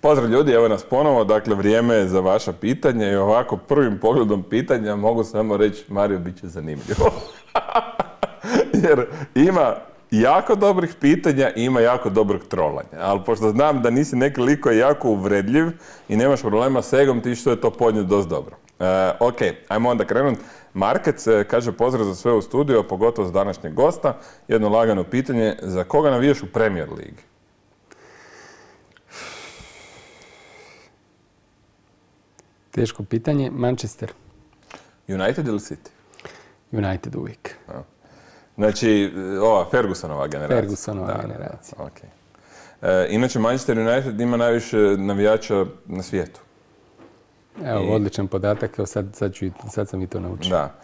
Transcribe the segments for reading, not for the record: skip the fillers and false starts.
Pozdrav ljudi, evo nas ponovo, dakle vrijeme je za vaša pitanja i ovako prvim pogledom pitanja mogu samo reći Mario, bit će zanimljivo. Jer ima jako dobrih pitanja i ima jako dobrog trolanja, ali pošto znam da nisi neki lik koji je jako uvredljiv i nemaš problema s egom, ti što je to podnijet dosta dobro. Ok, ajmo onda krenut. Markec kaže pozdrav za sve u studiju, pogotovo za današnjeg gosta. Jedno lagano pitanje, za koga navijaš u Premier Ligi? Teško pitanje. Manchester. United ili City? United uvijek. Znači, ova Fergusonova generacija. Fergusonova generacija. Okay. Inače, Manchester United ima najviše navijača na svijetu. Evo, odličan podatak, evo sad sam i to naučio. Da.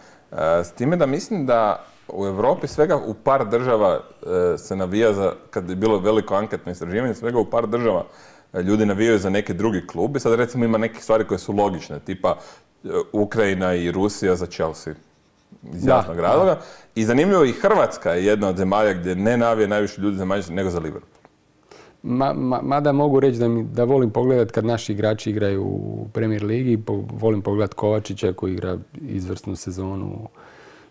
S time da mislim da u Europi svega u par država se navija za, kad je bilo veliko anketno istraživanje, svega u par država ljudi navijaju za neki drugi klub i sad recimo ima neke stvari koje su logične, tipa Ukrajina i Rusija za Chelsea iz jasnog razloga. I zanimljivo i Hrvatska je jedna od zemalja gdje ne navije najviše ljudi za Manchester nego za Liverpool. Mada mogu reći da volim pogledati kad naši igrači igraju u Premier Ligi, volim pogledati Kovačića koji igra izvrsnu sezonu u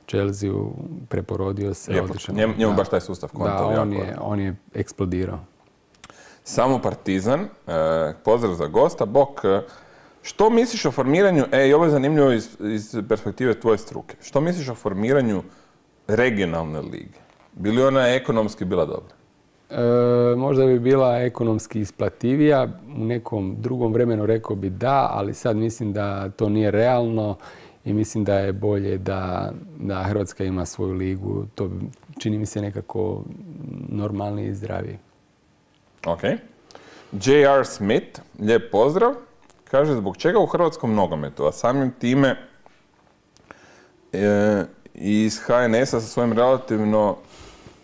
Chelsea-u, preporodio se. Njemu baš taj sustav konta. Da, on je eksplodirao. Samo Partizan, pozdrav za gosta. Bok, što misliš o formiranju, i ovo je zanimljivo iz perspektive tvoje struke, što misliš o formiranju regionalne lige? Bi li ona ekonomski bila dobra? Možda bi bila ekonomski isplativija, u nekom drugom vremenu rekao bi da, ali sad mislim da to nije realno i mislim da je bolje da Hrvatska ima svoju ligu. To čini mi se nekako normalniji i zdraviji. Ok. J.R. Smith, lijep pozdrav, kaže zbog čega u hrvatskom nogometu, a samim time iz HNS-a sa svojim relativno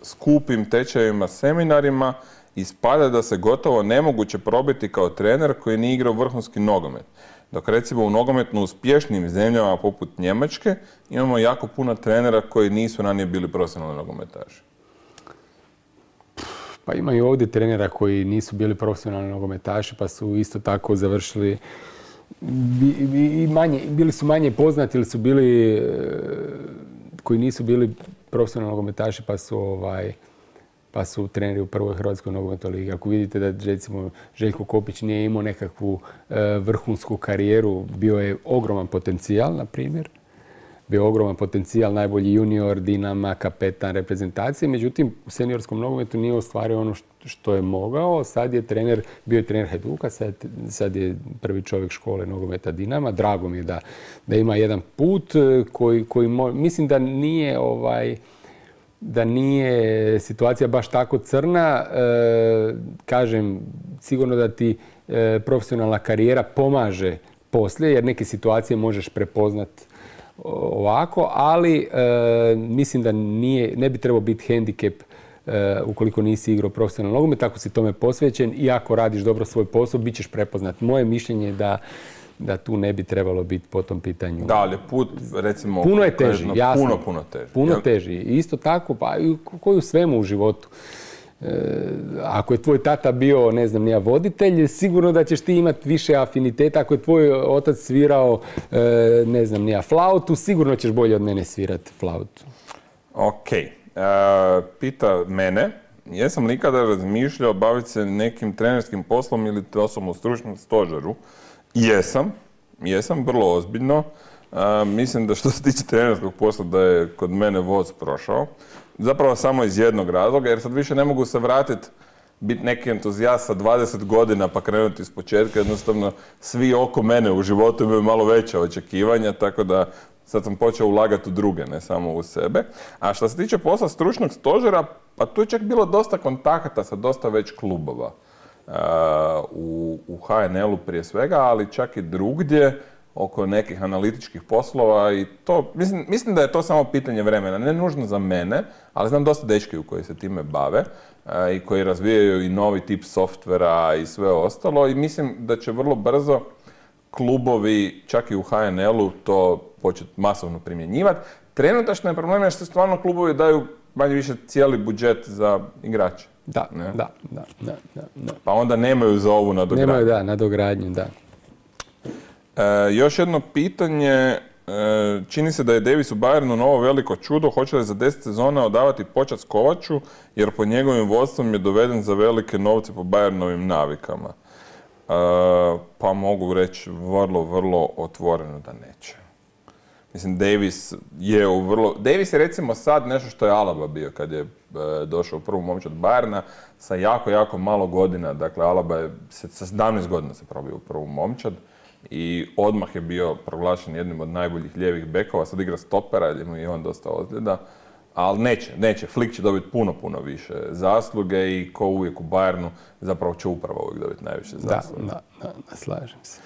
skupim tečajevima, seminarima, ispada da se gotovo nemoguće probiti kao trener koji nije igrao vrhunski nogomet. Dok recimo u nogometno uspješnijim zemljama poput Njemačke imamo jako puno trenera koji nisu ranije bili profesionalni nogometaši. Pa ima i ovdje trenera koji nisu bili profesionalni nogometaši pa su isto tako završili bili su manje poznati ili su bili koji nisu bili profesionalni nogometaši pa su treneri u prvoj Hrvatskoj nogometnoj ligi. Ako vidite da recimo Željko Kopić nije imao nekakvu vrhunsku karijeru, bio je ogroman potencijal, na primjer. Bio ogroman potencijal, najbolji junior, Dinama, kapetan reprezentacije. Međutim, u seniorskom nogometu nije ostvario ono što je mogao. Sad je bio je trener Hajduka, sad je prvi čovjek škole nogometa Dinama. Drago mi je da ima jedan put koji mislim da nije situacija baš tako crna. Kažem, sigurno da ti profesionalna karijera pomaže poslije, jer neke situacije možeš prepoznati ovako, ali mislim da ne bi trebao biti hendikep ukoliko nisi igrao profesionalno nogomet. Ako si tome posvećen i ako radiš dobro svoj posao, bit ćeš prepoznat. Moje mišljenje je da tu ne bi trebalo biti po tom pitanju. Da, ali put, recimo... Puno je teži, jasno. Puno teži. Puno teži. Isto tako, pa i koji u svemu u životu. Ako je tvoj tata bio, ne znam, nija voditelj, sigurno da ćeš ti imati više afiniteta. Ako je tvoj otac svirao, ne znam, nija flautu, sigurno ćeš bolje od mene svirati flautu. Ok. Pita mene, jesam li ikada razmišljao baviti se nekim trenerskim poslom ili osobom u stručnom stožeru? Jesam, vrlo ozbiljno. Mislim da što se tiče trenerskog posla da je kod mene voz prošao. Zapravo samo iz jednog razloga, jer sad više ne mogu se vratiti, biti neki entuzijast sa 20 godina pa krenuti iz početka. Jednostavno, svi oko mene u životu imaju malo veća očekivanja, tako da sad sam počeo ulagati u druge, ne samo u sebe. A što se tiče posla stručnog stožera, pa tu je čak bilo dosta kontakata sa dosta već klubova. U HNL-u prije svega, ali čak i drugdje oko nekih analitičkih poslova i to, mislim da je to samo pitanje vremena, ne nužno za mene, ali znam dosta dečki koji se time bave i koji razvijaju i novi tip softvera i sve ostalo i mislim da će vrlo brzo klubovi, čak i u HNL-u, to početi masovno primjenjivati. Trenutačno je problem što stvarno klubovi daju manje više cijeli budžet za igrače. Da. Pa onda nemaju za ovu nadogradnju. Nemaju, da, nadogradnju, da. Još jedno pitanje. Čini se da je Davis u Bayernu novo veliko čudo. Hoće li za 10 sezona odavati počast Kovaču, jer po njegovim vodstvom je doveden za velike novce po Bayernovim navikama? Pa mogu reći vrlo otvoreno da neće. Mislim, Davis je recimo sad nešto što je Alaba bio kad je došao u prvu momčad Bayerna sa jako malo godina. Dakle, Alaba je sa 17 godina se probio u prvu momčad i odmah je bio proglašen jednim od najboljih lijevih bekova. Sad igra stopera jer mu je on dosta ozljeda. Ali neće. Flick će dobiti puno više zasluge i ko uvijek u Bayernu zapravo će upravo uvijek dobiti najviše zasluge. Da, slažem se.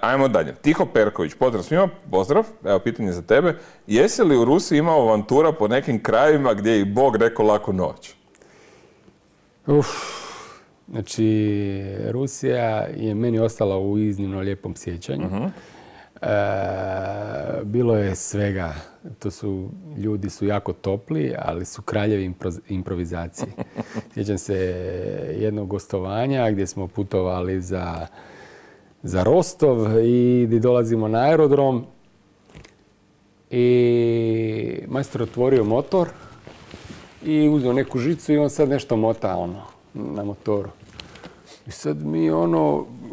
Ajmo dalje. Tiho Perković, pozdrav svima, pozdrav, evo pitanje za tebe. Jesi li u Rusiji imao avantura po nekim krajevima gdje je i Bog rekao laku noć? Znači, Rusija je meni ostala u iznimno lijepom sjećanju. Bilo je svega. Ljudi su jako topli, ali su kraljevi improvizacije. Sjećam se jednog gostovanja gdje smo putovali za Rostov i gdje dolazimo na aerodrom i majstor otvorio motor i uzeo neku žicu i on sad nešto mota na motoru. I sad mi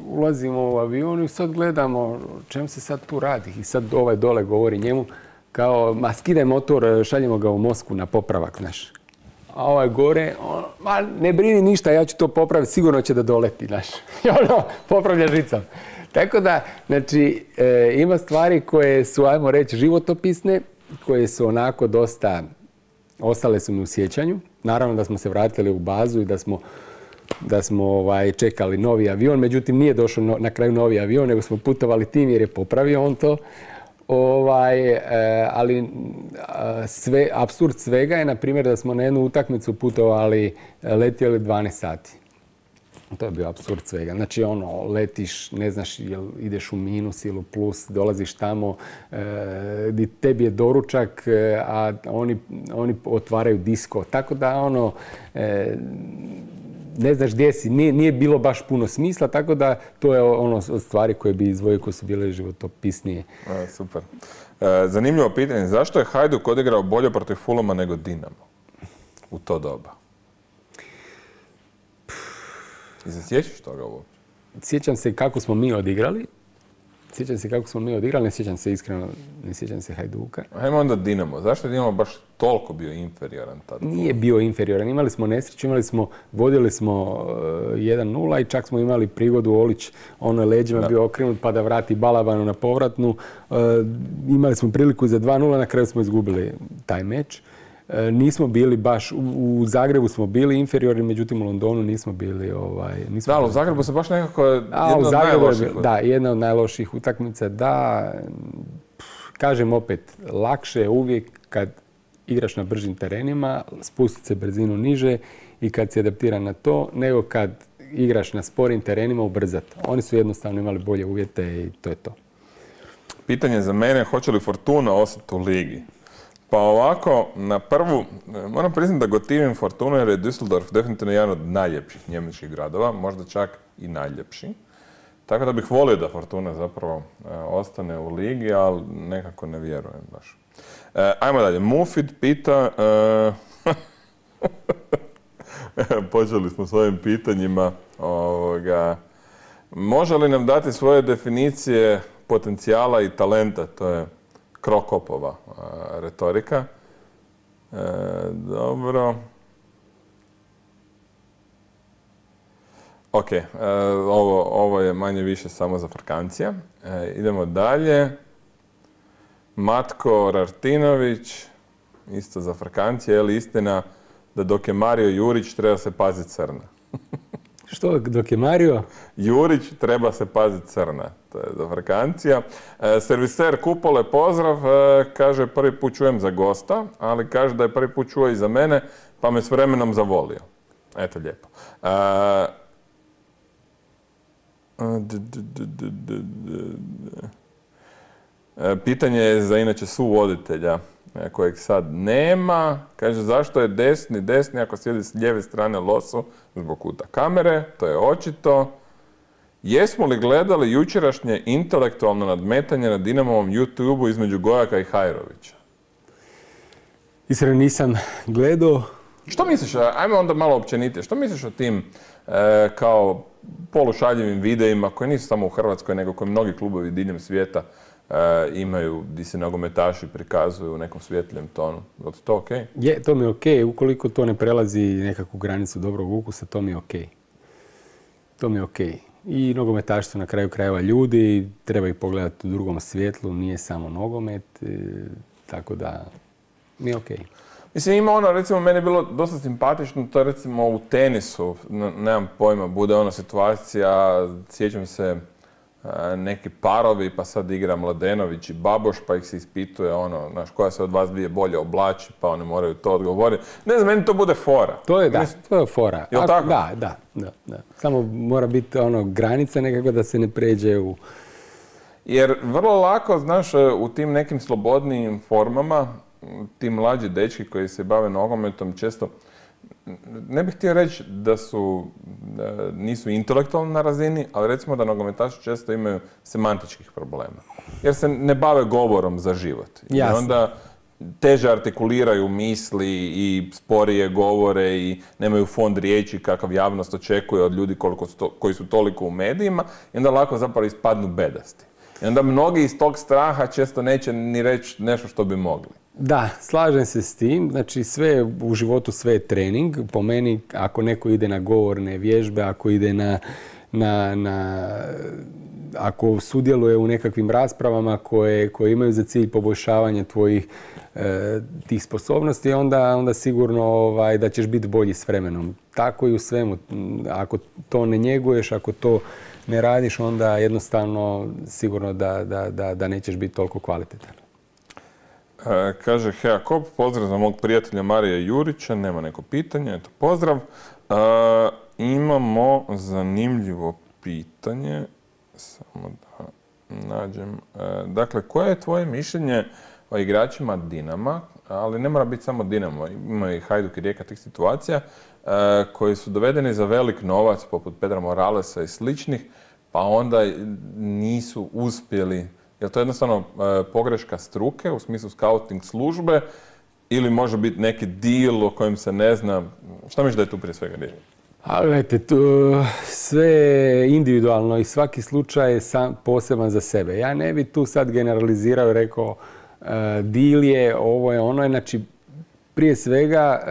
ulazimo u avion i sad gledamo čem se sad tu radi. I sad ovaj dole govori njemu kao, ma skidaj motor, šaljemo ga u Moskvu na popravak naš. A ovaj gore, ma ne brini ništa, ja ću to popraviti, sigurno će da doleti naš. I popravlja žicom. Tako da, znači, ima stvari koje su, ajmo reći, životopisne, koje su onako dosta, ostale su mi u sjećanju. Naravno da smo se vratili u bazu i da smo čekali novi avion, međutim nije došao na kraju novi avion, nego smo putovali tim jer je popravio on to. Ali apsurd svega je, na primjer, da smo na jednu utakmicu letjeli 12 sati. To je bio apsurd svega. Znači, letiš, ne znaš jel ideš u minus ili u plus, dolaziš tamo, tebi je doručak, a oni otvaraju disko. Tako da, ne znaš gdje si. Nije bilo baš puno smisla, tako da to je od stvari koje bi izdvojio koje su bile životopisnije. Super. Zanimljivo pitanje. Zašto je Hajduk odigrao bolje protiv Fulhama nego Dinamo u to doba? I se sjećaš toga uopće? Sjećam se kako smo mi odigrali. Ne sjećam se iskreno, ne sjećam se Hajduka. Ajmo onda Dinamo. Zašto je Dinamo baš toliko bio inferioran tada? Nije bio inferioran. Imali smo nesreću, vodili smo 1-0 i čak smo imali prigodu Olić leđima bio okrenut pa da vrati Balabanu na povratnu. Imali smo priliku za 2-0, na kraju smo izgubili taj meč. Nismo bili baš, u Zagrebu smo bili inferiorni, međutim u Londonu nismo bili... u Zagrebu se baš nekako jedna od najloših. Da, jedna od najloših utakmica. Da, kažem opet, lakše je uvijek kad igraš na bržim terenima, spustiti se brzinu niže i kad se adaptira na to, nego kad igraš na sporim terenima ubrzati. Oni su jednostavno imali bolje uvjete i to je to. Pitanje za mene, hoće li Fortuna ostati u ligi? Pa ovako, na prvu, moram priznati da gotivim Fortunu jer je Düsseldorf definitivno jedan od najljepših njemačkih gradova, možda čak i najljepši. Tako da bih volio da Fortuna zapravo ostane u ligi, ali nekako ne vjerujem baš. Ajmo dalje. Mufid pita, počeli smo s ovim pitanjima, može li nam dati svoje definicije potencijala i talenta? To je Krokopova retorika. Dobro. Ok, ovo je manje više samo za frkancija. Idemo dalje. Matko Rartinović, isto za frkancije, je li istina da dok je Mario Jurić treba se paziti crna? Što, dok je Mario? Jurić treba se paziti crna. To je za frkancija. Serviser Kupole, pozdrav. Kaže, prvi put čujem za gosta, ali kaže da je prvi put čuo i za mene, pa me s vremenom zavolio. Eto, lijepo. Pitanje je za inače suvoditelja. kojeg sad nema. Kaže, zašto je desni ako sjedi s lijeve strane loso zbog kuta kamere, to je očito. Jesmo li gledali jučerašnje intelektualno nadmetanje na Dinamovom YouTube-u između Gojaka i Hajrovića? Iskreno nisam gledao. Što misliš, ajmo onda malo općenite, što misliš o tim kao polušaljivim videima koji nisu samo u Hrvatskoj, nego koji mnogi klubovi diljem svijeta imaju, gdje se nogometaši prikazuju u nekom svjetljem tonu. Je to okej? Je, to mi je okej. Ukoliko to ne prelazi nekakvu granicu dobrog ukusa, to mi je okej. To mi je okej. I nogometaši su na kraju krajeva ljudi, treba ih pogledati u drugom svjetlu, nije samo nogomet, tako da mi je okej. Mislim, ima ono, recimo, meni je bilo dosta simpatično, to je recimo u tenisu, nemam pojma, bude ona situacija, sjećam se neki parovi, pa sad igra Mladenović i Baboš, pa ih se ispituje ono, znaš, koja se od vas dvije bolje oblači, pa oni moraju to odgovoriti. Ne znam, meni to bude fora. To je, da, to je fora. Jel' tako? Da. Samo mora biti ono, granica nekako da se ne pređe u... Jer vrlo lako, znaš, u tim nekim slobodnijim formama, ti mlađi dečki koji se bave nogometom često, ne bih htio reći da nisu intelektualno na razini, ali recimo da nogometaši često imaju semantičkih problema. Jer se ne bave govorom za život. Jasne. I onda teže artikuliraju misli i sporije govore i nemaju fond riječi kakav javnost očekuje od ljudi koji su toliko u medijima i onda lako zapravo ispadnu bedasti. I onda mnogi iz tog straha često neće ni reći nešto što bi mogli. Da, slažem se s tim. Znači, sve u životu, sve je trening. Po meni, ako neko ide na govorne vježbe, ako ide ako sudjeluje u nekakvim raspravama koje imaju za cilj poboljšavanje tvojih tih sposobnosti, onda sigurno da ćeš biti bolji s vremenom. Tako i u svemu. Ako to ne njeguješ, ako to ne radiš, onda jednostavno sigurno da nećeš biti toliko kvalitetan. Kaže Hea Kop, pozdrav za mog prijatelja Marija Jurića, nema neko pitanje, eto pozdrav. Imamo zanimljivo pitanje, samo da nađem. Dakle, koje je tvoje mišljenje o igračima Dinama, ali ne mora biti samo Dinamo, ima i Hajduk i Rijeka tih situacija, koji su dovedeni za velik novac, poput Pedra Moralesa i sličnih, pa onda nisu uspjeli. Je li to jednostavno pogreška struke u smislu scouting službe ili može biti neki deal o kojem se ne zna? Šta misliš da je tu prije svega riječ? A gledajte, sve je individualno i svaki slučaj je poseban za sebe. Ja ne bi tu sad generalizirao i rekao deal je, ovo je ono. Znači, prije svega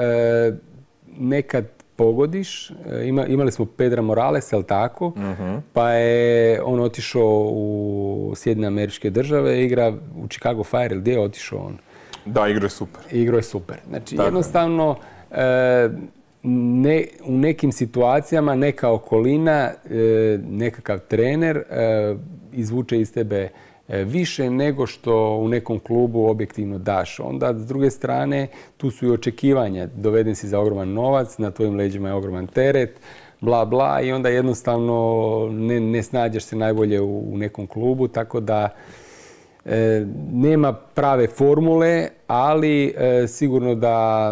nekad pogodiš. Imali smo Pedra Moralesa, jel tako? Pa je on otišao u Sjedinjene Američke Države, igra u Chicago Fire, gdje je otišao on? Da, igrao je super. Igrao je super. Znači, jednostavno, u nekim situacijama neka okolina, nekakav trener izvuče iz tebe više nego što u nekom klubu objektivno daš. Onda, s druge strane, tu su i očekivanja. Doveden si za ogroman novac, na tvojim leđima je ogroman teret, bla, bla, i onda jednostavno ne snađeš se najbolje u nekom klubu, tako da nema prave formule, ali sigurno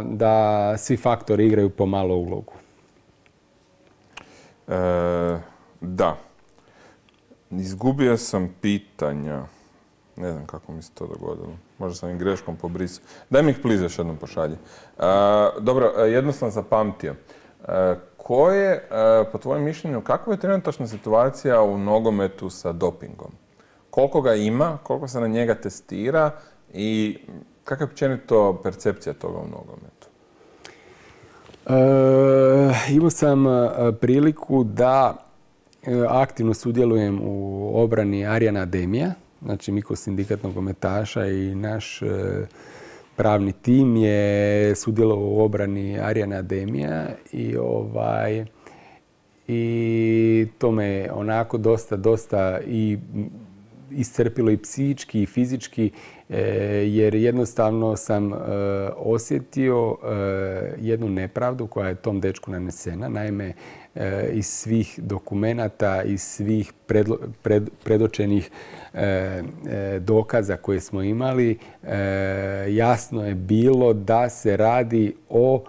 da svi faktori igraju pomalo ulogu. Da. Izgubio sam pitanja. Ne znam kako mi se to dogodilo. Možda sam im greškom pobrisao. Daj mi ih pliz još jednom pošalji. Dobro, jedno sam zapamtio. Po tvojem mišljenju, kakva je trenutačna situacija u nogometu sa dopingom? Koliko ga ima, koliko se na njega testira i kakva je općenito percepcija toga u nogometu? Imao sam priliku da aktivno sudjelujem u obrani Arjana Ademija. Znači, mi kao sindikat nogometaša i naš pravni tim je sudjelovao u obrani Arjana Ademija i to me onako dosta i iscrpilo i psihički i fizički, jer jednostavno sam osjetio jednu nepravdu koja je tom dečku nanesena. Naime, iz svih dokumenata, iz svih predočenih dokaza koje smo imali, jasno je bilo da se radi o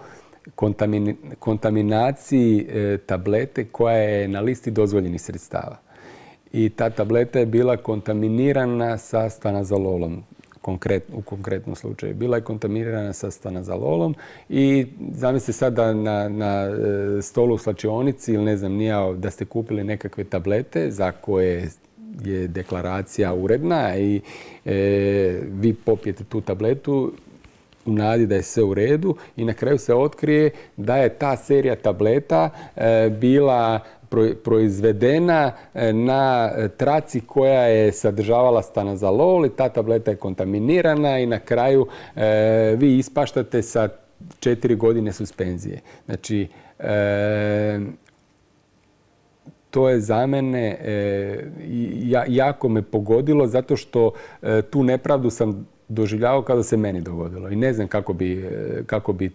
kontaminaciji tablete koja je na listi dozvoljenih sredstava. I ta tableta je bila kontaminirana sa stanazololom. U konkretnom slučaju. Bila je kontaminirana sa stanazololom i zamislite sad da na stolu u slačionici ili ne znam nija da ste kupili nekakve tablete za koje je deklaracija uredna i vi popijete tu tabletu u nadi da je sve u redu i na kraju se otkrije da je ta serija tableta bila proizvedena na traci koja je sadržavala stanazolol i ta tableta je kontaminirana i na kraju vi ispaštate sa 4 godine suspenzije. Znači, to je za mene jako me pogodilo zato što tu nepravdu sam doživljavao kao da se meni dogodilo. I ne znam kako bi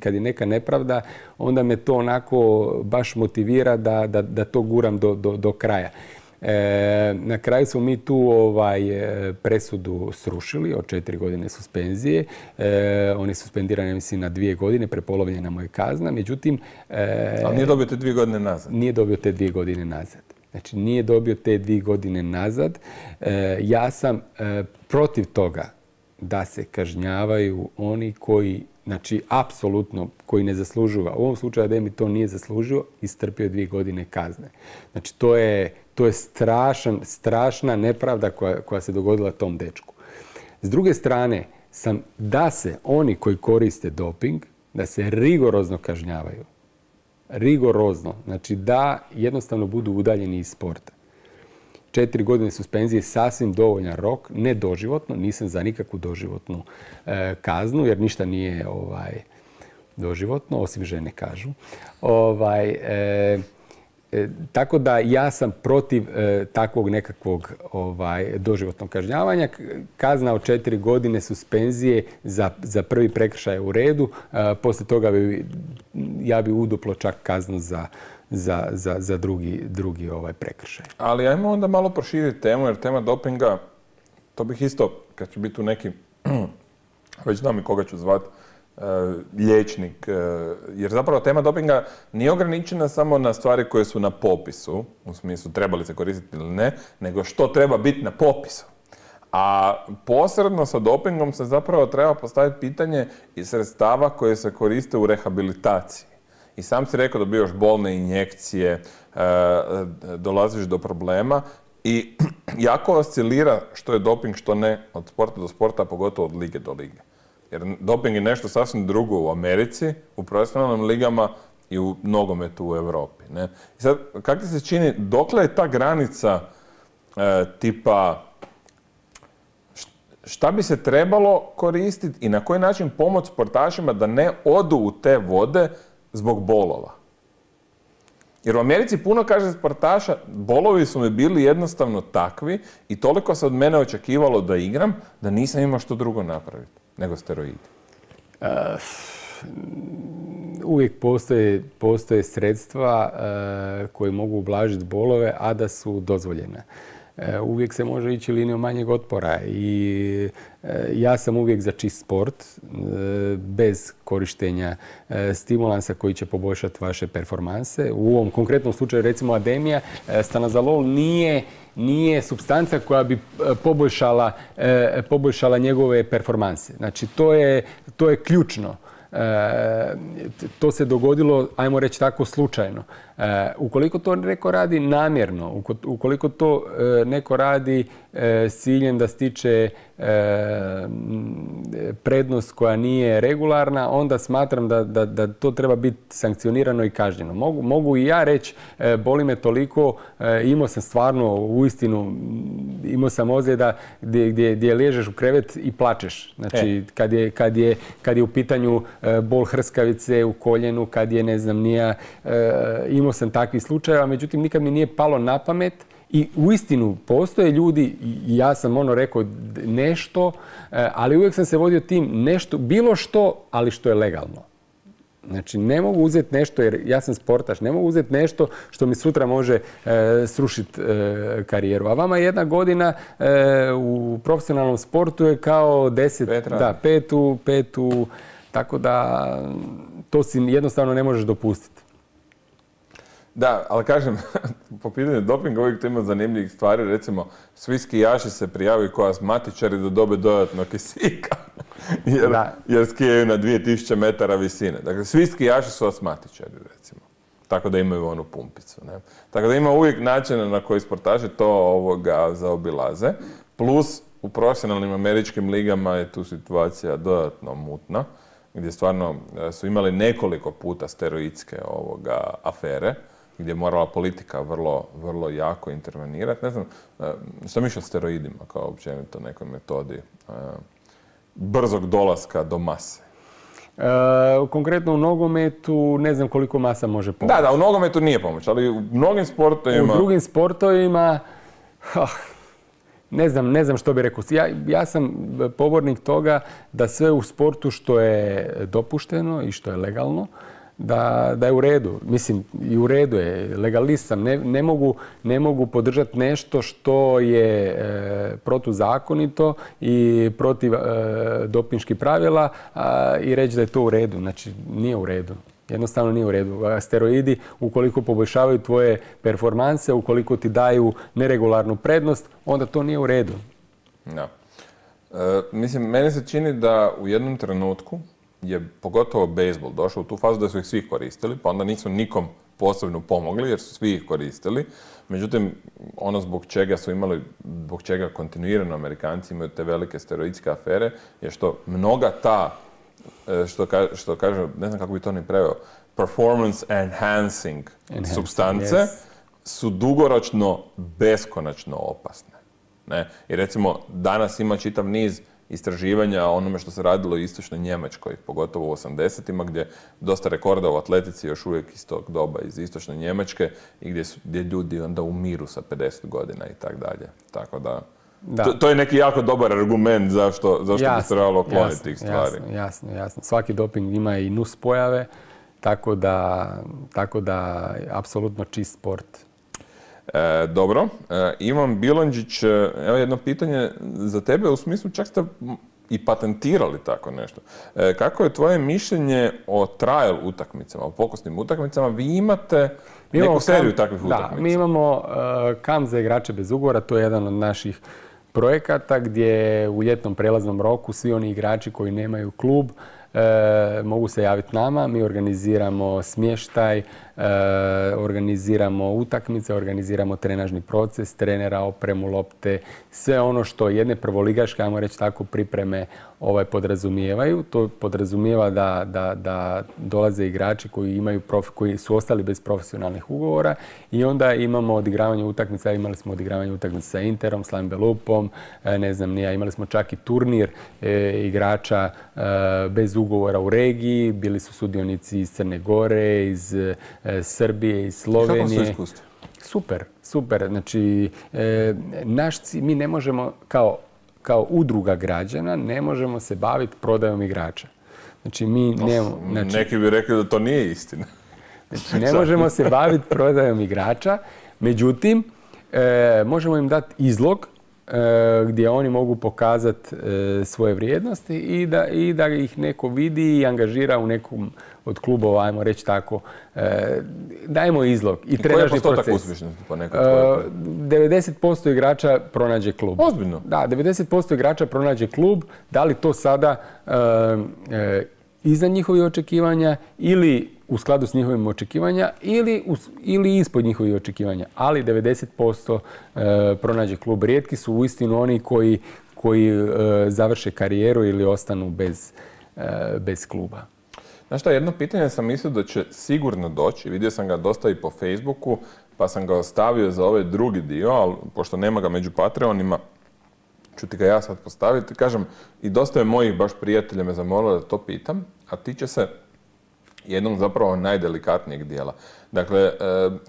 kad je neka nepravda, onda me to onako baš motivira da to guram do kraja. Na kraju smo mi tu presudu srušili od 4 godine suspenzije. On je suspendiran, mislim, na 2 godine, prepolovljena mu je kazna. Međutim... Ali nije dobio te 2 godine nazad? Nije dobio te 2 godine nazad. Znači, nije dobio te 2 godine nazad. Ja sam protiv toga da se kažnjavaju oni koji, znači, apsolutno, koji ne zaslužuju. U ovom slučaju Ademi to nije zaslužio, istrpio 2 godine kazne. Znači, to je strašna nepravda koja se dogodila tom dečku. S druge strane, da se oni koji koriste doping, da se rigorozno kažnjavaju. Rigorozno. Znači da jednostavno budu udaljeni iz sporta. 4 godine suspenzije je sasvim dovoljan rok, ne doživotno, nisam za nikakvu doživotnu kaznu, jer ništa nije doživotno, osim žene kažu. Tako da ja sam protiv takvog nekakvog doživotnog kažnjavanja. Kazna od 4 godine suspenzije za prvi prekršaj u redu. Poslije toga ja bi uduplo čak kaznu za drugi prekršaj. Ali ajmo onda malo proširiti temu, jer tema dopinga, to bih isto, kad će biti tu neki, već znam i koga ću zvati, liječnik, jer zapravo tema dopinga nije ograničena samo na stvari koje su na popisu, u smislu trebali se koristiti ili ne, nego što treba biti na popisu. A posredno sa dopingom se zapravo treba postaviti pitanje i sredstava koje se koriste u rehabilitaciji. I sam si rekao da dobivaš bolne injekcije, dolaziš do problema i jako oscilira što je doping, što ne, od sporta do sporta, a pogotovo od lige do lige. Jer doping je nešto sasvim drugo u Americi, u profesionalnim ligama i u nogometu u Europi. Ne? I sad, kako ti se čini, dokle je ta granica tipa šta bi se trebalo koristiti i na koji način pomoći sportašima da ne odu u te vode zbog bolova? Jer u Americi puno, kaže sportaša, bolovi su mi bili jednostavno takvi i toliko se od mene očekivalo da igram, da nisam imao što drugo napraviti nego steroidi. Uvijek postoje sredstva koje mogu ublažiti bolove, a da su dozvoljena. Uvijek se može ići linijom manjeg otpora i ja sam uvijek za čist sport, bez korištenja stimulansa koji će poboljšati vaše performanse. U ovom konkretnom slučaju, recimo Ademija, stanazolol nije supstanca koja bi poboljšala njegove performanse. Znači, to je ključno. To se dogodilo, ajmo reći tako, slučajno. Ukoliko to neko radi namjerno, ukoliko to neko radi s ciljem da stiče prednost koja nije regularna, onda smatram da to treba biti sankcionirano i kažnjeno. Mogu i ja reći, boli me toliko, imao sam stvarno, uistinu, imao sam ozljeda gdje ležeš u krevet i plačeš. Znači, kad je u pitanju bol hrskavice u koljenu, kad je, ne znam, imao sam takvih slučajeva, međutim, nikad mi nije palo na pamet I uistinu postoje ljudi, i ja sam rekao nešto, ali uvijek sam se vodio tim nešto, bilo što, ali što je legalno. Znači, ne mogu uzeti nešto, jer ja sam sportaš, ne mogu uzeti nešto što mi sutra može srušiti karijeru. A vama 1 godina u profesionalnom sportu je kao 10, petu, tako da to si jednostavno ne možeš dopustiti. Da, ali kažem, po pitanju dopinga uvijek tu ima zanimljivih stvari. Recimo, svi skijaši se prijavaju kao astmatičari da dobe dodatno kisika. Jer skijaju na 2000 metara visine. Dakle, svi skijaši su astmatičari, recimo. Tako da imaju onu pumpicu. Ne? Tako da ima uvijek načina na koji sportaši to zaobilaze. Plus, u profesionalnim američkim ligama je tu situacija dodatno mutna, gdje stvarno su imali nekoliko puta steroidske afere, gdje je morala politika vrlo, vrlo jako intervenirati. Ne znam, što mišlja o steroidima kao općenito nekoj metodi brzog dolaska do mase? Konkretno u nogometu ne znam koliko masa može pomoći. Da, u nogometu nije pomoć, ali u mnogim sportovima... U drugim sportovima... Ne znam što bih rekao. Ja sam pobornik toga da sve u sportu što je dopušteno i što je legalno, da je u redu. Mislim, i u redu je. Legalist sam. Ne mogu podržati nešto što je protuzakonito i protiv dopinških pravila i reći da je to u redu. Znači, nije u redu. Jednostavno nije u redu. Steroidi, ukoliko poboljšavaju tvoje performanse, ukoliko ti daju neregularnu prednost, onda to nije u redu. Da. Mislim, meni se čini da u jednom trenutku je pogotovo bejzbol došao u tu fazu da su ih svi koristili, pa onda nisu nikom posebno pomogli jer su svi ih koristili. Međutim, ono zbog čega kontinuirano Amerikanci imaju te velike steroidske afere je što mnoga ta, što kaže, ne znam kako bi to ni preveo, performance enhancing supstance su dugoročno beskonačno opasne. Ne? I recimo, danas ima čitav niz istraživanja o onome što se radilo u istočnoj Njemačkoj, pogotovo u 80-ima, gdje dosta rekorda u atletici još uvijek iz tog doba iz istočne Njemačke i gdje ljudi onda umiru sa 50 godina i tak dalje. Tako da, to je neki jako dobar argument zašto bi se trebalo kloniti tih stvari. Jasno. Svaki doping ima i nus pojave, tako da apsolutno čist sport. Dobro. Ivan Bilonđić, evo jedno pitanje za tebe, u smislu čak ste i patentirali tako nešto. Kako je tvoje mišljenje o trial utakmicama, o pokusnim utakmicama? Vi imate neku seriju takvih utakmica. Da, mi imamo kamp za igrače bez ugovora, to je jedan od naših projekata gdje u ljetnom prelaznom roku svi oni igrači koji nemaju klub mogu se javiti nama, mi organiziramo smještaj, organiziramo utakmice, organiziramo trenažni proces, trenera, opremu, lopte, sve ono što jedne prvoligaške, ajmo reći tako, pripreme podrazumijevaju. To podrazumijeva da dolaze igrači koji su ostali bez profesionalnih ugovora i onda imamo odigravanje utakmica, imali smo odigravanje utakmica sa Interom, s Lambalupom, ne znam nija, imali smo čak i turnir igrača bez ugovora u regiji, bili su sudionici iz Crne Gore, iz Srbije, iz Slovenije. Kako su iskustvo? Super. Znači, mi ne možemo kao udruga građana ne možemo se baviti prodajom igrača. Znači, neki bi rekli da to nije istina. Znači, ne možemo se baviti prodajom igrača, međutim, možemo im dati izlog gdje oni mogu pokazati svoje vrijednosti i da ih neko vidi i angažira u nekom od klubova, ajmo reći tako. Dajemo izlog. I koji je postotak uspješnosti po nekoj tvojoj? 90% igrača pronađe klub. Ozbiljno? Da, 90% igrača pronađe klub. Da li to sada iznad njihovih očekivanja ili u skladu s njihovim očekivanja ili ispod njihovih očekivanja. Ali 90% pronađe klub. Rijetki su uistinu oni koji završe karijeru ili ostanu bez kluba. Znaš šta, jedno pitanje sam mislio da će sigurno doći. Vidio sam ga dosta i po Facebooku, pa sam ga ostavio za ovaj drugi dio, ali pošto nema ga među Patreonima, ću ti ga ja sad postaviti. Kažem, i dosta je mojih baš prijatelja me zamolilo da to pitam, a tiče se jednog zapravo najdelikatnijeg dijela. Dakle,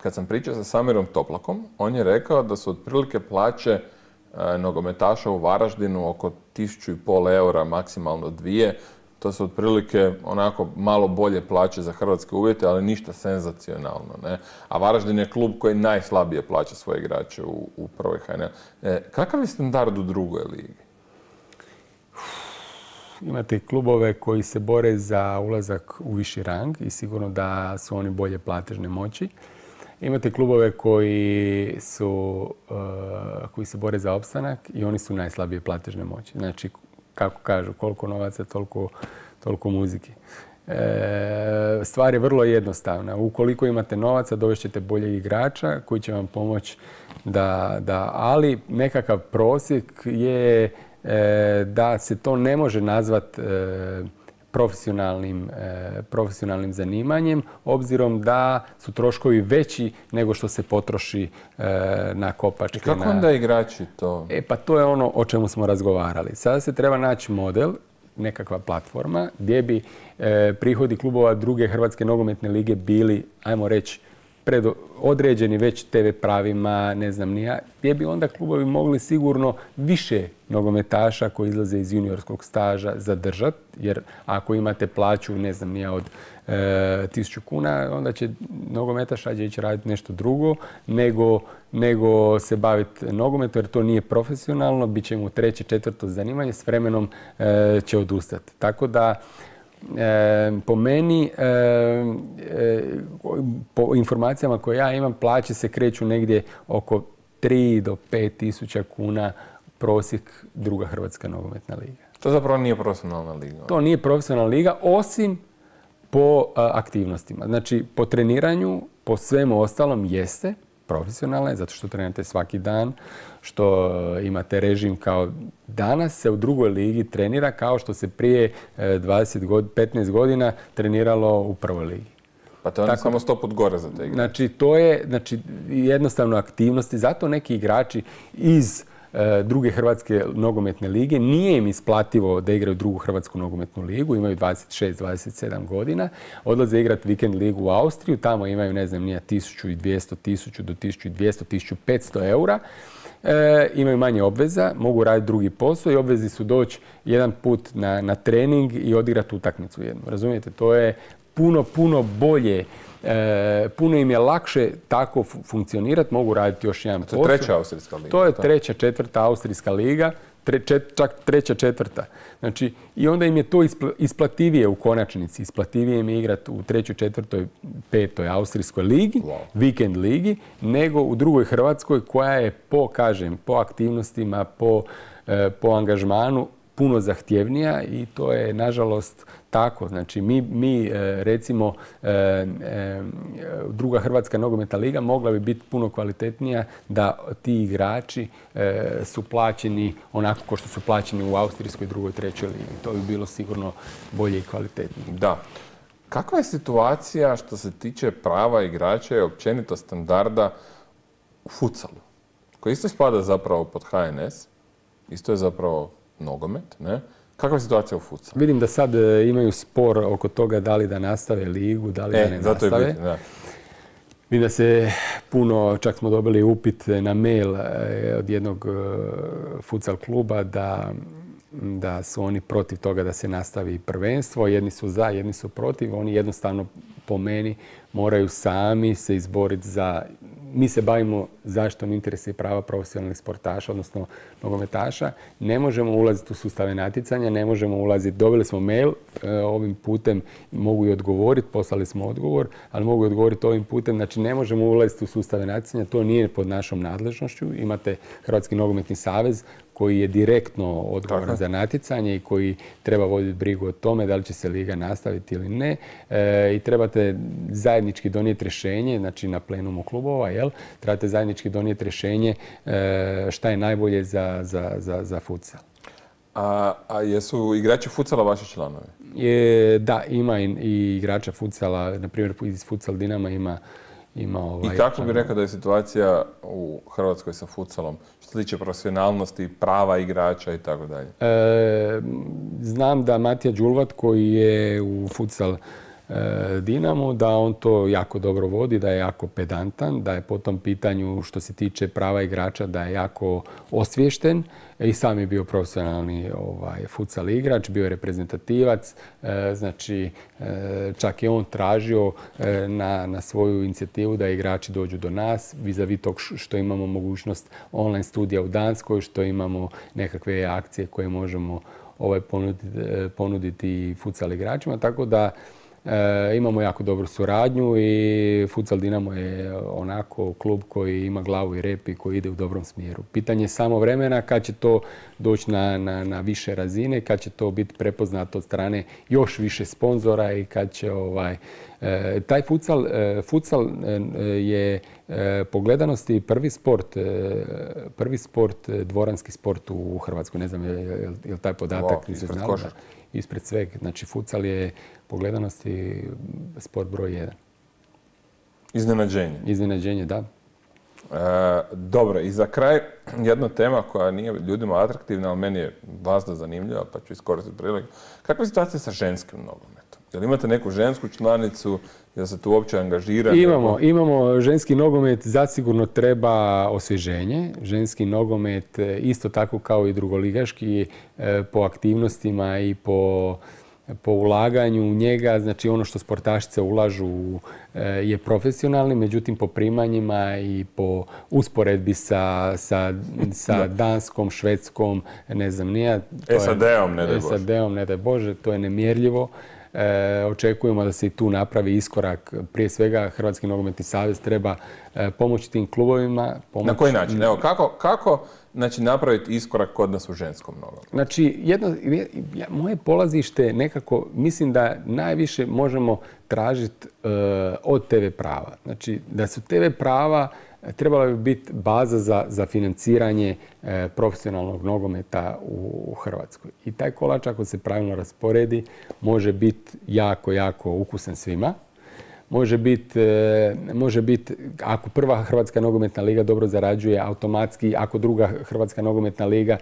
kad sam pričao sa Samirom Toplakom, on je rekao da su otprilike plaće nogometaša u Varaždinu oko 1.500 eura, maksimalno 2. To su otprilike onako malo bolje plaće za hrvatske uvjete, ali ništa senzacionalno. Ne? A Varaždin je klub koji najslabije plaća svoje igrače u prvoj HNL. Kakav je standard u drugoj ligi? Imate klubove koji se bore za ulazak u viši rang i sigurno da su oni bolje platežne moći. Imate klubove koji se bore za opstanak i oni su najslabije platežne moći. Znači, kako kažu, koliko novaca, toliko muzike. Stvar je vrlo jednostavna. Ukoliko imate novaca, dovešćete boljeg igrača koji će vam pomoći ali nekakav prosjek je da se to ne može nazvati profesionalnim zanimanjem, obzirom da su troškovi veći nego što se potroši na kopačke. I kako onda igrači to? Pa to je ono o čemu smo razgovarali. Sada se treba naći model, nekakva platforma, gdje bi prihodi klubova druge Hrvatske nogometne lige bili, ajmo reći, određeni već TV pravima, ne znam ni ja, gdje bi onda klubovi mogli sigurno više nogometaša koji izlaze iz juniorskog staža zadržati, jer ako imate plaću, ne znam ni ja, od 1.000 kuna, onda će nogometaš rađe ići raditi nešto drugo nego se baviti nogometom, jer to nije profesionalno, bit će mu 3., 4. zanimanje, s vremenom će odustati. Tako da po meni, po informacijama koje ja imam, plaće se kreću negdje oko 3 do 5 tisuća kuna prosjek druga Hrvatska nogometna liga. To zapravo nije profesionalna liga? To nije profesionalna liga, osim po aktivnostima. Znači, po treniranju, po svemu ostalom jeste profesionalne, zato što trenirate svaki dan, što imate režim kao danas se u drugoj ligi trenira kao što se prije 15 godina treniralo u prvoj ligi. Pa to je samo 100 put gore za te igrače. Znači, to je jednostavno aktivnosti. Zato neki igrači iz druge Hrvatske nogometne lige nije im isplativo da igraju drugu Hrvatsku nogometnu ligu, imaju 26-27 godina, odlaze igrati vikend ligu u Austriju, tamo imaju, ne znam, 1200, 1000 do 1200, 1500 eura, imaju manje obveza, mogu raditi drugi posao i obvezi su doći jedan put na trening i odigrati utakmicu jednu. Razumijete, to je puno bolje. Puno im je lakše tako funkcionirati, mogu raditi još jedan posao. To je 3. austrijska liga. To je 3., 4. austrijska liga, čak 3., 4. Znači, i onda im je to isplativije u konačnici. Isplativije im je igrati u 3., 4., 5. austrijskoj ligi, vikend ligi, nego u drugoj Hrvatskoj koja je po aktivnostima, po angažmanu puno zahtjevnija i to je, nažalost, tako. Znači, mi recimo, druga Hrvatska nogometna liga mogla bi biti puno kvalitetnija da ti igrači su plaćeni onako kao što su plaćeni u austrijskoj 2., 3. ligi. To bi bilo sigurno bolje i kvalitetnije. Da. Kakva je situacija što se tiče prava igrača i općenito standarda u futsalu? Koji isto spada zapravo pod HNS, isto je zapravo nogomet, ne? Kakva je situacija u futsalu? Vidim da sad imaju spor oko toga da li da nastave ligu, da li da ne zato nastave. Je bitno, da. Vidim da se puno, čak smo dobili upit na mail od jednog futsal kluba da su oni protiv toga da se nastavi prvenstvo. Jedni su za, jedni su protiv. Oni jednostavno, po meni, moraju sami se izboriti za... Mi se bavimo zaštitom interesa i prava profesionalnih sportaša, odnosno nogometaša. Ne možemo ulaziti u sustave natjecanja, ne možemo ulaziti. Dobili smo mail, ovim putem mogu i odgovoriti, poslali smo odgovor, ali mogu i odgovoriti ovim putem. Znači, ne možemo ulaziti u sustave natjecanja, to nije pod našom nadležnošću. Imate Hrvatski nogometni savez koji je direktno odgovoran za natjecanje i koji treba voditi brigu o tome da li će se liga nastaviti ili ne. I trebate zajednički donijeti rješenje, znači na plenumu klubova, trebate zajednički donijeti rješenje šta je najbolje za futsal. A jesu igrači futsala vaši članovi? Da, ima i igrača futsala, na primjer iz Futsal Dinama ima I kako bi rekao da je situacija u Hrvatskoj sa futsalom, što se tiče profesionalnosti, prava igrača i tako dalje? Znam da Matija Đulvat, koji je u futsal Dinamo, da on to jako dobro vodi, da je jako pedantan, da je po tom pitanju što se tiče prava igrača da je jako osviješten i sam je bio profesionalni futsal igrač, bio je reprezentativac, znači čak je on tražio na svoju inicijativu da igrači dođu do nas, vis-a-vis tog što imamo mogućnost online studija u Danskoj, što imamo nekakve akcije koje možemo ponuditi futsal igračima, tako da imamo jako dobru suradnju i Futsal Dinamo je onako klub koji ima glavu i rep i koji ide u dobrom smjeru. Pitanje je samo vremena kad će to doći na više razine, kad će to biti prepoznato od strane još više sponzora i kad će taj futsal je po gledanosti prvi sport, dvoranski sport u Hrvatskoj. Ne znam je li taj podatak ispred košarke. Ispred svega. Znači futsal je po gledanosti sport broj 1. Iznenađenje. Iznenađenje, da. Dobro, i za kraj jedna tema koja nije ljudima atraktivna, ali meni je vazda zanimljiva, pa ću iskoristiti priliku. Kakva je situacija sa ženskim nogometom? Jel imate neku žensku članicu? Jel se tu uopće angažira? Imamo ženski nogomet, zasigurno treba osvježenje. Ženski nogomet isto tako kao i drugoligaški po aktivnostima i po ulaganju u njega, znači ono što sportašice ulažu je profesionalni, međutim po primanjima i po usporedbi sa Danskom, Švedskom, ne znam nija. SAD-om, ne daj Bože. SAD-om, ne daj Bože, to je nemjerljivo. Očekujemo da se i tu napravi iskorak. Prije svega Hrvatski nogometni savez treba pomoći tim klubovima. Na koji način? Evo, kako napraviti iskorak kod nas u ženskom nogometu? Znači, moje polazište nekako, mislim da najviše možemo tražiti od TV prava. Znači, da su TV prava trebala bi biti baza za financiranje profesionalnog nogometa u Hrvatskoj. I taj kolač, ako se pravilno rasporedi, može biti jako, jako ukusan svima. Može biti, ako prva Hrvatska nogometna liga dobro zarađuje, automatski, ako druga Hrvatska nogometna liga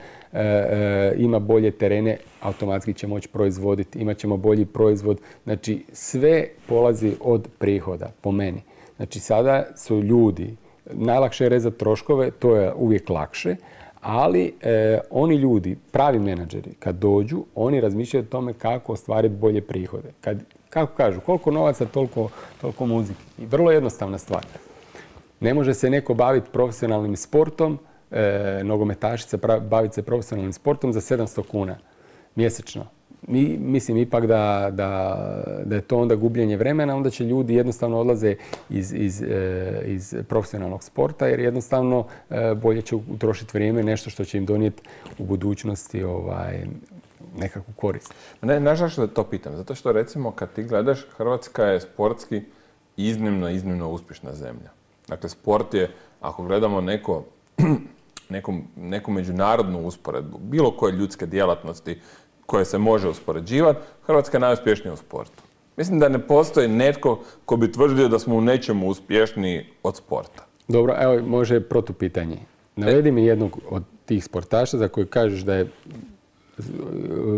ima bolje terene, automatski će moći proizvoditi, imat ćemo bolji proizvod. Znači, sve polazi od prihoda, po meni. Znači, sada su ljudi, najlakše je rezati troškove, to je uvijek lakše, ali oni ljudi, pravi menadžeri, kad dođu, oni razmišljaju o tome kako ostvariti bolje prihode. Kako kažu, koliko novaca, toliko muzike. I vrlo jednostavna stvar. Ne može se neko baviti profesionalnim sportom, nogometašica baviti se profesionalnim sportom za 700 kuna mjesečno. Mislim ipak da je to onda gubljenje vremena, onda će ljudi jednostavno odlaze iz profesionalnog sporta jer jednostavno bolje će utrošiti vrijeme, nešto što će im donijeti u budućnosti nekakvu korist. Nažalost da to pitam, zato što recimo kad ti gledaš, Hrvatska je sportski iznimno uspješna zemlja. Dakle, sport je, ako gledamo neku međunarodnu usporedbu, bilo koje ljudske djelatnosti koje se može uspoređivati, Hrvatska je najuspješnija u sportu. Mislim da ne postoji netko ko bi tvrdio da smo u nečemu uspješniji od sporta. Dobro, evo može protupitanje. Navedi mi jednog od tih sportaša za koji kažeš da je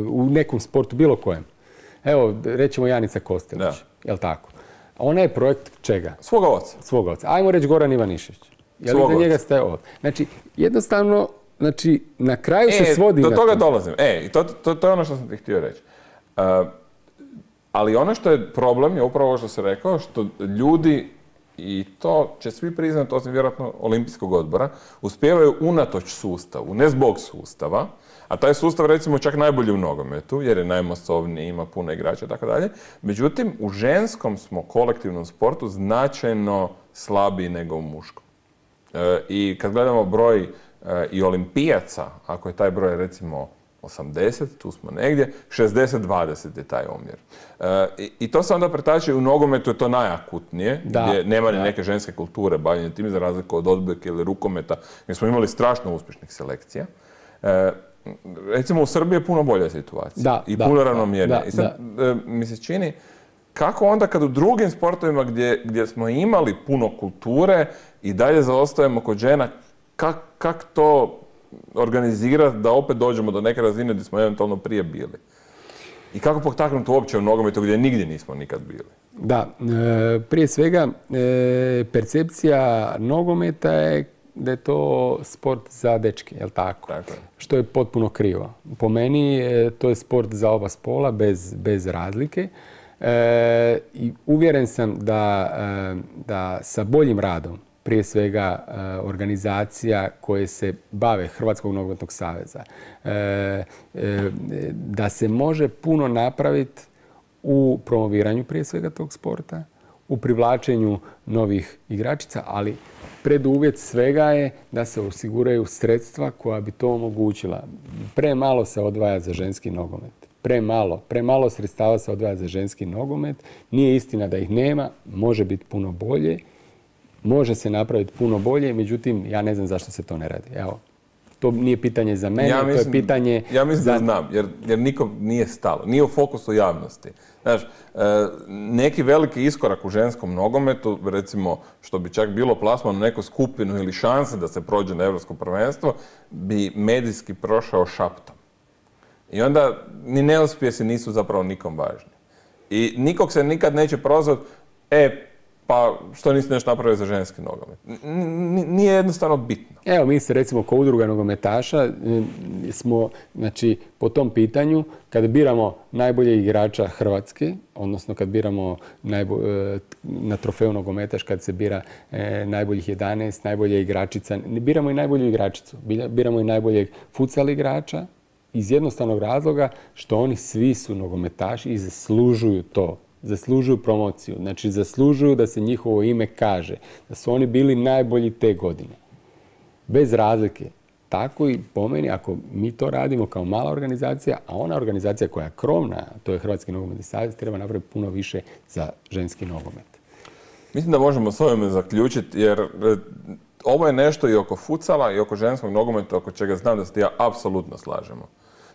u nekom sportu, bilo kojem. Evo, rećemo Janica Kostelić, jel tako? Ona je projekt čega? Svoga oca. Svoga oca. Ajmo reći Goran Ivanišević. Jel li za njega ste ovdje? Znači, jednostavno, na kraju se svodi do na toga dolazim. To je ono što sam ti htio reći. Ali ono što je problem je upravo ovo što sam rekao, što ljudi, i to će svi priznati, osim vjerojatno Olimpijskog odbora, uspijevaju unatoč sustavu, ne zbog sustava, a taj sustav recimo čak najbolji u nogometu, jer je najmasovniji, ima puno igrača i tako dalje. Međutim, u ženskom smo kolektivnom sportu značajno slabiji nego u muškom. I kad gledamo broj i olimpijaca, ako je taj broj recimo 80, tu smo negdje, 60-20 je taj omjer. I to se onda pretače u nogometu, je to najakutnije, gdje nema ni neke ženske kulture bavljenja tim, za razliku od odbojke ili rukometa, gdje smo imali strašno uspješnih selekcija. Recimo u Srbiji je puno bolja situacija i puno ravnomjernija. I sad mi se čini, kako onda kad u drugim sportovima gdje smo imali puno kulture i dalje zaostajemo kod žena, kako to organizirati da opet dođemo do neke razine gdje smo eventualno prije bili? I kako potaknuti uopće u nogometu gdje nigdje nismo nikad bili? Da, prije svega percepcija nogometa je da je to sport za dečke, jel tako? Tako je. Što je potpuno krivo. Po meni to je sport za oba spola, bez razlike. I uvjeren sam da sa boljim radom, prije svega organizacija koje se bave Hrvatskog nogometnog saveza, da se može puno napraviti u promoviranju prije svega tog sporta, u privlačenju novih igračica, ali preduvjet svega je da se osiguraju sredstva koja bi to omogućila. Premalo se odvaja za ženski nogomet. Premalo sredstava se odvaja za ženski nogomet. Nije istina da ih nema, može biti puno bolje. Može se napraviti puno bolje, međutim, ja ne znam zašto se to ne radi. Evo, to nije pitanje za mene, to je pitanje... Ja mislim da znam, jer nikom nije stalo. Nije u fokusu javnosti. Znaš, neki veliki iskorak u ženskom nogometu, recimo, što bi čak bilo plasman u neku skupinu ili šanse da se prođe na Europsko prvenstvo, bi medijski prošao šaptom. I onda ni neuspjesi nisu zapravo nikom važni. I nikog se nikad neće prozvati, pa što nisi nešto napravio za ženski nogomet. Nije jednostavno bitno. Evo, mi se recimo kao udruga nogometaša smo, znači, po tom pitanju, kada biramo najbolje igrača Hrvatske, odnosno kad biramo na trofeju nogometaš, kad se bira najboljih 11, najbolje igračica, biramo i najbolju igračicu, biramo i najboljeg futsal igrača, iz jednostavnog razloga što oni svi su nogometaši i zaslužuju to. Zaslužuju promociju, znači zaslužuju da se njihovo ime kaže, da su oni bili najbolji te godine. Bez razlike. Tako i po meni, ako mi to radimo kao mala organizacija, a ona organizacija koja je krovna, to je Hrvatski nogometni savez, treba napraviti puno više za ženski nogomet. Mislim da možemo s ovime zaključiti, jer ovo je nešto i oko futsala i oko ženskog nogometa, oko čega znam da se ja apsolutno slažemo.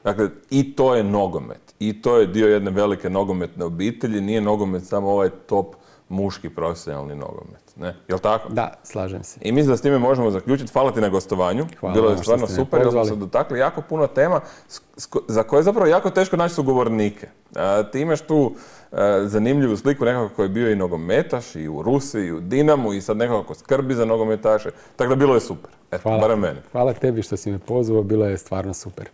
Dakle, i to je nogomet. I to je dio jedne velike nogometne obitelji. Nije nogomet samo ovaj top muški profesionalni nogomet. Ne? Jel' tako? Da, slažem se. I mislim da s time možemo zaključiti. Hvala ti na gostovanju. Hvala. Bilo je stvarno super. Jer smo se dotakli jako puno tema za koje je zapravo jako teško naći sugovornike. Ti imaš tu zanimljivu sliku nekoga koji je bio i nogometaš i u Rusiji, i u Dinamu i sad nekoga ko skrbi za nogometaše. Tako da bilo je super. Eto, barem meni. Hvala tebi što si me pozvao. Bilo je stvarno super.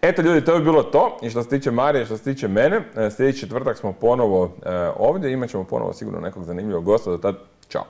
Eto ljudi, to je bilo to. I što se tiče Marije, što se tiče mene, sljedeći četvrtak smo ponovo ovdje. Imat ćemo ponovo sigurno nekog zanimljivog gosta. Do tad, čao.